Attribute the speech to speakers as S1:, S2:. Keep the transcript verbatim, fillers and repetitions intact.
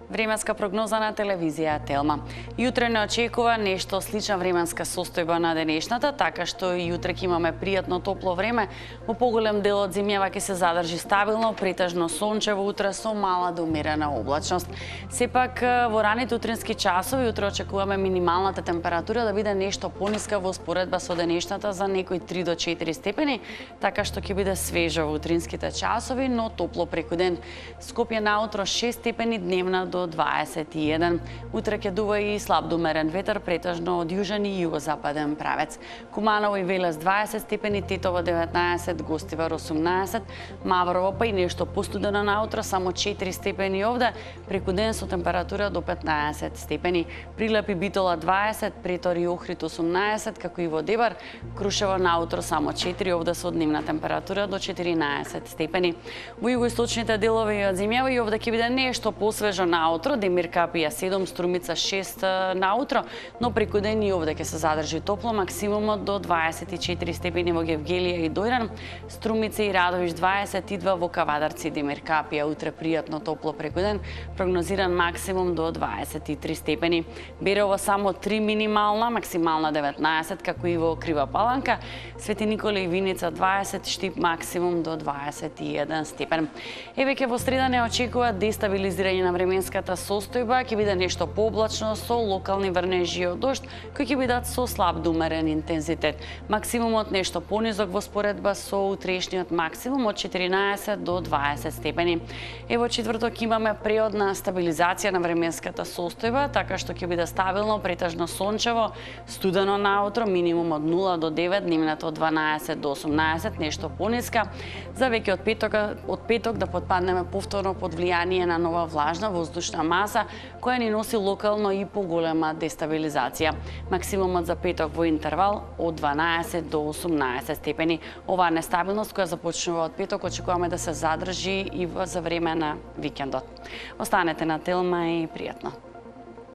S1: Временска прогноза на телевизија Телма. Јутре не очекува нешто слична временска состојба на денешната, така што и јутре ќе имаме пријатно топло време. Во поголем дел од земјава ќе се задржи стабилно, претежно сончево утре со мала до умерена облачност. Сепак во раните утрински часови утре очекуваме минималната температура да биде нешто пониска во споредба со денешната за некои три до четири степени, така што ќе биде свежо во утринските часови, но топло преку ден. Скопје наутро шест степени, дневна до дваесет и еден. Утре ќе дува и слаб до умерен ветер, претежно од јужен и југозападен правец. Куманово и Велес дваесет степени, Тетово деветнаесет, Гостивар осумнаесет, Маврово па и нешто постудено наутро, само четири степени овде, преку ден со температура до петнаесет степени. Прилеп и Битола дваесет, Претор и Охрид осумнаесет, како и во Дебар, Крушево наутро само четири, овде со дневна температура до четиринаесет степени. Во југоисточните делови од земјава и овде ќе биде нешто посвежо наутро, Демир Капија седум, Струмица шест наутро, но преку ден и овде ќе се задржи топло, максимумот до дваесет и четири степени во Гевгелија и Дојран, Струмица и Радовиш дваесет и два, во Кавадарци и Демир Капија утре пријатно топло преку ден, прогнозиран максимум до дваесет и три степени. Берово само три минимална, максимална деветнаесет, како и во Крива Паланка, Свети Никола и Виница дваесет, Штип максимум до дваесет и еден степен. Еве ке во среда не очекува дестабилизирање на временската состојба, ќе биде нешто пооблачно со локални врнежи од дожд, кои ќе бидат со слаб до умерен интензитет. Максимумот нешто понизок во споредба со утрешниот максимум од четиринаесет до дваесет степени. Ево четврток имаме преодна стабилизација на временската состојба, така што ќе биде стабилно, претежно сончево, студено наутро, минимум од нула до девет, дневната од дванаесет до осумнаесет, нешто пониска. За веќе од петок, од петок да потпаднеме повторно под влијание на нова влажна воздушна маса, која ни носи локално и поголема дестабилизација. Максимумот за петок во интервал од дванаесет до осумнаесет степени. Оваа нестабилност која започнува од петок очекуваме да се задржи и за време на викендот. Останете на Телма и пријатно.